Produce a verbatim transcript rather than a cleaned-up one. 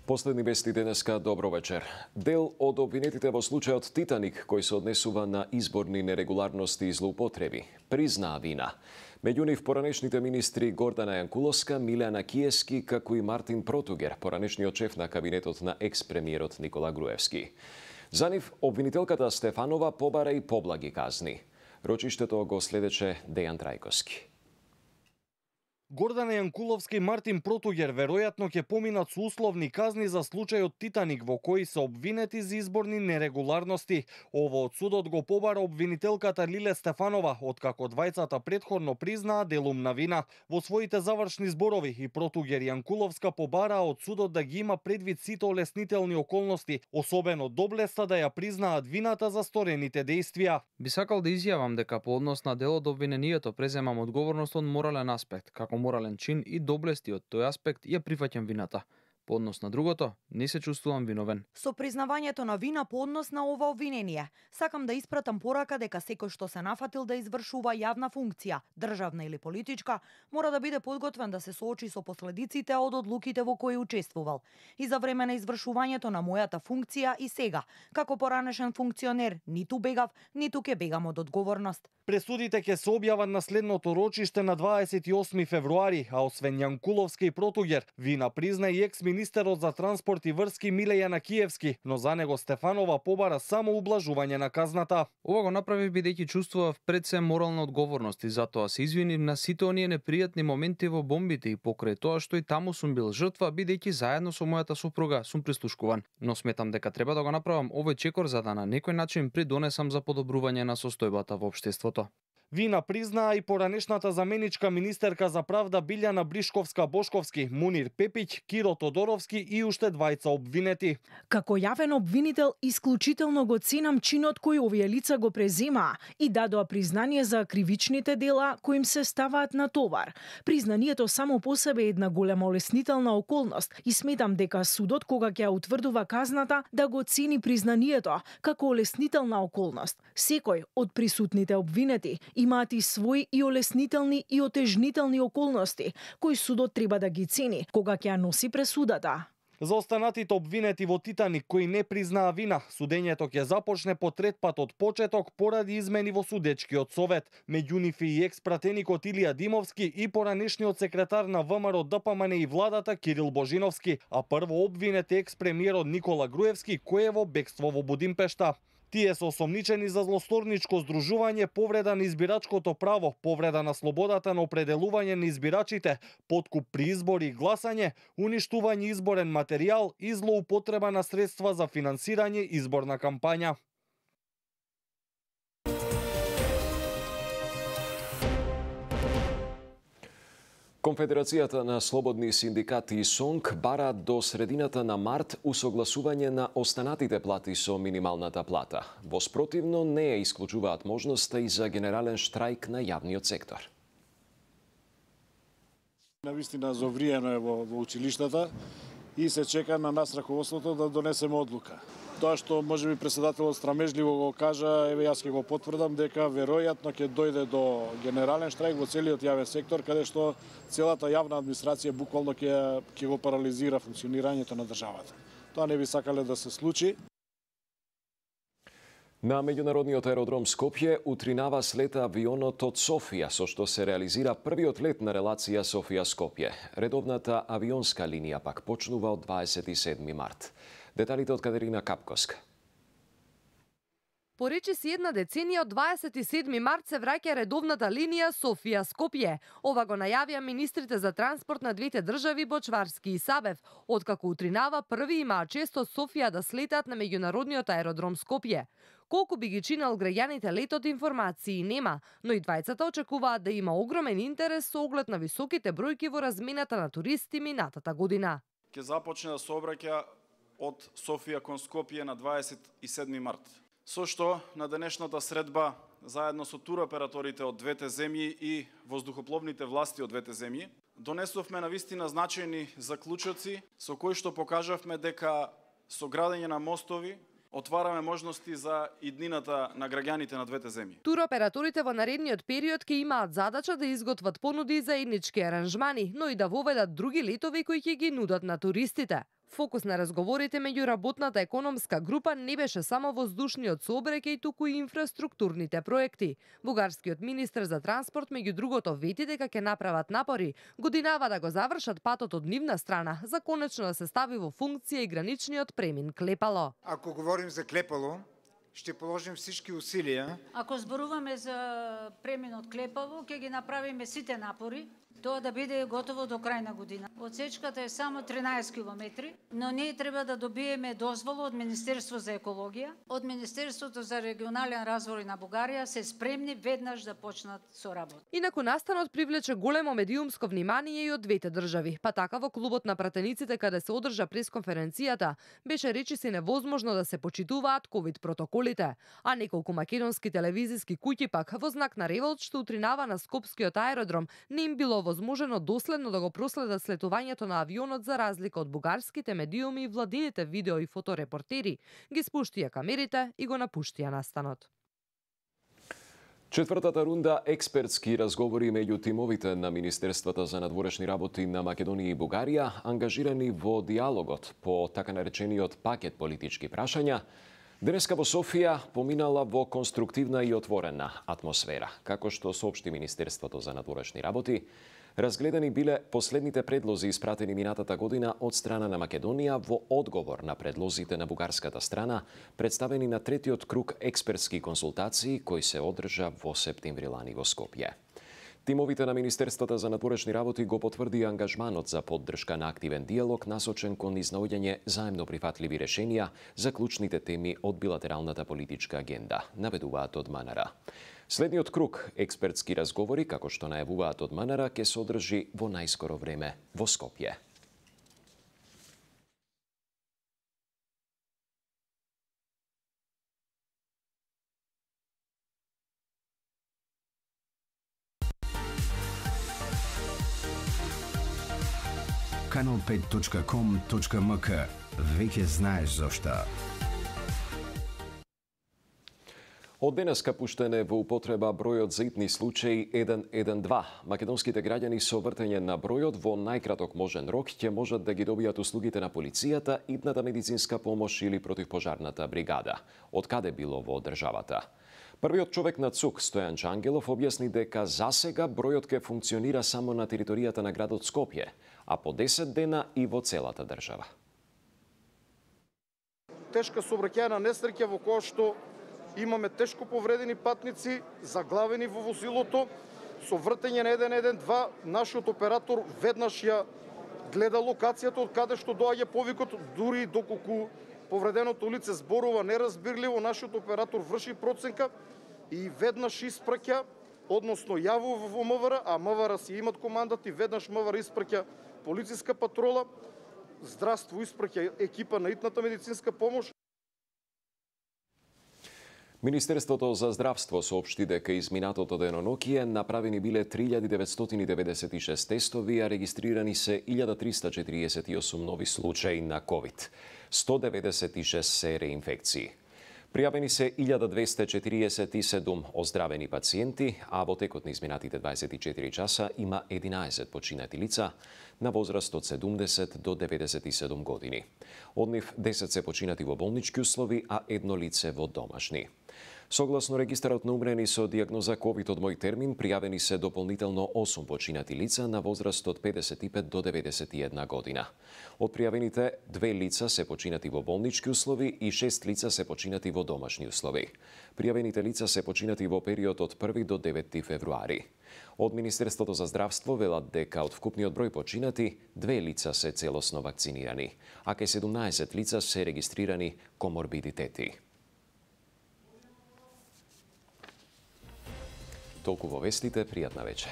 Последни вести денеска, добро вечер. Дел од обвинетите во случајот Титаник, кој се однесува на изборни нерегуларности и злоупотреби, признаа вина. Меѓу нив поранешните министри Гордана Јанкуловска, Милјана Киевски, како и Мартин Протугер, поранешниот шеф на кабинетот на екс-премиерот Никола Груевски. За нив обвинителката Стефанова побара и поблаги казни. Рочиштето го следеше Дејан Трајковски. Гордана Јанкуловска и Мартин Протугер веројатно ќе поминат со условни казни за случајот Титаник, во кој се обвинети за изборни нерегуларности. Ово од судот го побара обвинителката Лиле Стефанова, откако двајцата претходно признаа делумна вина. Во своите завршни зборови и Протугер и Јанкуловска побараа од судот да ги има предвид сите олеснителни околности, особено доблеста да ја признаат вината за сторените дејствија. Би сакал да изјавам дека по однос на делот обвинението преземам одговорност од морален аспект, како морален чин и доблести од тој аспект ја прифаќам вината. По однос на другото, не се чувствувам виновен. Со признавањето на вина по однос на ова обвинение, сакам да испратам порака дека секој што се нафатил да извршува јавна функција, државна или политичка, мора да биде подготвен да се соочи со последиците од одлуките во кои учествувал. И за време на извршувањето на мојата функција и сега, како поранешен функционер, ниту бегав, ниту ќе бегам од одговорност. Пресудите ќе се објават на следното рочиште на дваесет и осми февруари, а освен Јанкуловска и Протугер, вина призна и екс-министерот за транспорт и врски Милјана Киевски, но за него Стефанова побара само ублажување на казната. Ова го направив бидејќи чувствував пред се морална одговорност и затоа се извинив на сите оние непријатни моменти во бомбите и покрај тоа што и таму сум бил жртва, бидејќи заедно со мојата сопруга сум прислушкуван. Но сметам дека треба да го направам овој чекор за да на некој начин придонесам за подобрување на состојбата во општеството. Вина признаа и поранешната заменичка министерка за правда Билјана Бришковска-Бошковски, Мунир Пепиќ, Киро Тодоровски и уште двајца обвинети. Како јавен обвинител, исклучително го ценам чинот кој овие лица го преземаа и дадоа признание за кривичните дела кои им се ставаат на товар. Признанието само по себе е една голема олеснителна околност и сметам дека судот кога ќе утврдува казната да го цени признанието како олеснителна околност. Секој од присутните обвинети имаат и своји и олеснителни и отежнителни околности, кои судот треба да ги цени кога ќе ја носи пресудата. За останатите обвинети во Титаник кои не признаа вина, судењето ќе започне по трет пат од почеток поради измени во судечкиот совет. Меѓу нив и екс-пратеникот Илија Димовски и поранешниот секретар на ВМРО Д П М Н и владата Кирил Божиновски, а прво обвинет е екс-премиерот Никола Груевски кој е во бегство во Будимпешта. Тие се осомничени за злосторничко здружување, повреда на избирачкото право, повреда на слободата на определување на избирачите, подкуп при избори и гласање, уништување изборен материјал и злоупотреба на средства за финансирање изборна кампања. Конфедерацијата на слободни синдикати и СОНК бараат до средината на март усогласување на останатите плати со минималната плата. Во спротивно не ја исклучуваат можноста и за генерален штрајк на јавниот сектор. Навистина зовриено е во, во училиштата и се чека на нас раководството да донесеме одлука. Тоа што можеби претседателот страмежливо го кажа, еве јас ќе го потврдам дека веројатно ќе дојде до генерален штрајк во целиот јавен сектор, каде што целата јавна администрација буквално ќе ќе го парализира функционирањето на државата. Тоа не би сакале да се случи. На меѓународниот аеродром Скопје утринава слета авионот од Софија, со што се реализира првиот лет на релација Софија-Скопје. Редовната авионска линија пак почнува од дваесет и седми март. Деталите од Катерина Капковска. Поречиси една деценија од дваесет и седми март се враќа редовната линија Софија-Скопје. Ова го најавија министрите за транспорт на двете држави Бочварски и Сабев, откако утринава први имаа чест од Софија да слетаат на меѓународниот аеродром Скопје. Колку би ги чинел граѓаните летот, информации нема, но и двајцата очекуваат да има огромен интерес со оглед на високите бројки во размената на туристи минатата година. Ќе започне да се обраќа од Софија кон Скопје на дваесет и седми март. Со што на денешната средба, заедно со туроператорите од двете земји и воздухопловните власти од двете земји, донесовме навистина значајни заклучоци со кои што покажавме дека со градење на мостови отвараме можности за иднината на граѓаните на двете земји. Туроператорите во наредниот период ќе имаат задача да изготват понуди за заеднички аранжмани, но и да воведат други летови кои ќе ги нудат на туристите. Фокус на разговорите меѓу работната економска група не беше само воздушниот сообраќај, туку и инфраструктурните проекти. Бугарскиот министер за транспорт меѓу другото вети дека ќе направат напори годинава да го завршат патот од нивна страна за конечно да се стави во функција и граничниот премин Клепало. Ако говорим за Клепало, ще положим всички усилия. Ако зборуваме за преминот Клепало, ќе ги направиме сите напори тоа да биде готово до крај на година. Отсечката е само тринаесет километри, но ние треба да добиеме дозвола од Министерство за екологија, од Министерството за регионален развој на Бугарија се спремни веднаш да почнат со работа. Инаку настанот привлече големо медиумско внимание и од двете држави, па така во клубот на пратениците каде се одржа пресконференцијата, беше речиси невозможно да се почитуваат ковид протоколите, а неколку македонски телевизиски куќи пак во знак на револт што утринава на Скопскиот аеродром не им било возможено доследно да го проследат слетувањето на авионот за разлика од бугарските медиуми и владините видео и фоторепортери, ги спуштија камерите и го напуштија настанот. Четвртата рунда експертски разговори меѓу тимовите на Министерствата за надворешни работи на Македонија и Бугарија, ангажирани во диалогот по така наречениот пакет политички прашања, денеска во Софија поминала во конструктивна и отворена атмосфера. Како што соопшти Министерството за надворешни работи, разгледани биле последните предлози испратени минатата година од страна на Македонија во одговор на предлозите на бугарската страна, представени на третиот круг експертски консултации кој се одржа во септември лани во Скопје. Тимовите на Министерствата за надворешни работи го потврди ангажманот за поддршка на активен диалог насочен кон изнаоѓање заемно прифатливи решенија за клучните теми од билатералната политичка агенда, наведуваат од МНР. Следниот круг експертски разговори, како што најавуваат од МНР, ќе се одржи во најскоро време во Скопје. канал пет точка ком точка ем ка. Веќе знаеш зошто. Од денеска пуштен е во употреба бројот за итни случаи еден еден два. Македонските граѓани со вртење на бројот во најкраток можен рок ќе можат да ги добијат услугите на полицијата, итната медицинска помош или противпожарната бригада, од каде било во државата. Првиот човек на ЦУК, Стојан Чангелов, објасни дека засега бројот ќе функционира само на територијата на градот Скопје, а по десет дена и во целата држава. Тешка сообраќајна несреќа во која што имаме тешко повредени патници, заглавени во возилото, со вртење на еден еден два, нашиот оператор веднаш ја гледа локацијата од каде што доаѓа повикот, дури доколку повреденото лице зборува неразбирливо, нашиот оператор врши проценка и веднаш испраќа, односно јавува во МВР, а МВР си имат командат и веднаш МВР испраќа полициска патрола, здравство испраќа екипа на итната медицинска помош. Министерството за здравство соопшти дека изминатото денонокие направени биле три илјади деветстотини деветдесет и шест тестови, а регистрирани се илјада триста четириесет и осум нови случаи на ковид. сто деветдесет и шест се реинфекции. Пријавени се илјада двесте четириесет и седум оздравени пациенти, а во текот на изминатите дваесет и четири часа има единаесет починати лица на возраст од седумдесет до деветдесет и седум години. Од нив десет се починати во болнички услови, а едно лице во домашни. Согласно регистарот на умрени со дијагноза ковид од мој термин, пријавени се дополнително осум починати лица на возраст од педесет и пет до деветдесет и една година. Од пријавените, две лица се починати во болнички услови и шест лица се починати во домашни услови. Пријавените лица се починати во период од први до девети февруари. Од Министерството за здравство велат дека од вкупниот број починати, две лица се целосно вакцинирани, а кај седумнаесет лица се регистрирани коморбидитети. Толку во вестите, пријатна вечер.